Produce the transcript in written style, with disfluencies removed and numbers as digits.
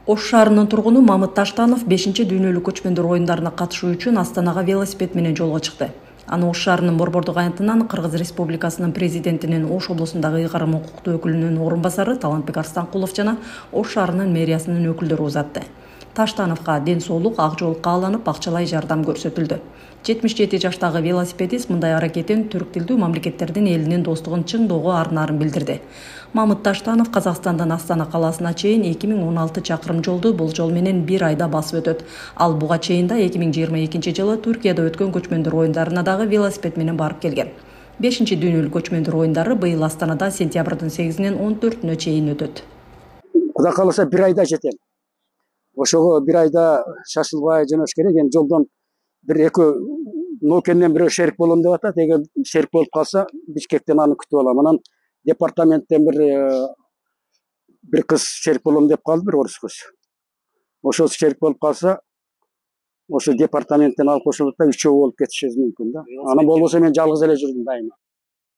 Ош шаарынын тургуну Мамыт Таштанов 5-дүйнөлүк көчмөндөр оюндарына катышуу үчүн Астанага велосипед менен жолго чыкты. Аны Ош шаарынын Борбордук аянтынан Кыргыз Республикасынын президентинин Ош облусундагы ыйгарым укуктуу өкүлүнүн орун басары Талантбек Арстанкулов жана Ош шаарынын мэриясынын өкүлдөрү узатты. Таштановго ден соолук, ак жол кааланып, акчалай жардам көрсөтүлдү. 77 жаштагы велосипедист мындай аракетин түрк тилдүү мамлекеттердин элинин достугун чыңдоого ар-нарын билдирди. Мамыт Таштанов Казакстандан Астана калаасына чейин 2016 чакырым жолду бул жол менен бир айда басып өтөт. Ал буга чейин да 2022 жылы Түркияда өткөн көчмөндөр оюндарына дагы велосипед менен барып келген. 5-дүйнөлүк көчмөндөр оюндары быйыл Астанада сентябрдын 8-нен 14-нө чейин өтөт. Кудай кааласа бир айда жетем. Ошого бир айда шашылбай жөнөш керек. Эми жолдон бир экөө ноокенден бирөө шерик болом деп атат. Эгер шерик болуп калса, Бишкектен аны күтүп алам. Анан департаменттен бир кыз шерик болом деп калды, бир орус кыз. Ошо шерик болуп калса, ошо департаменттен алып кошулат да 3 болуп кетишибиз мүмкүн да. Анан болбосо мен жалгыз эле жүрдүм дайыма.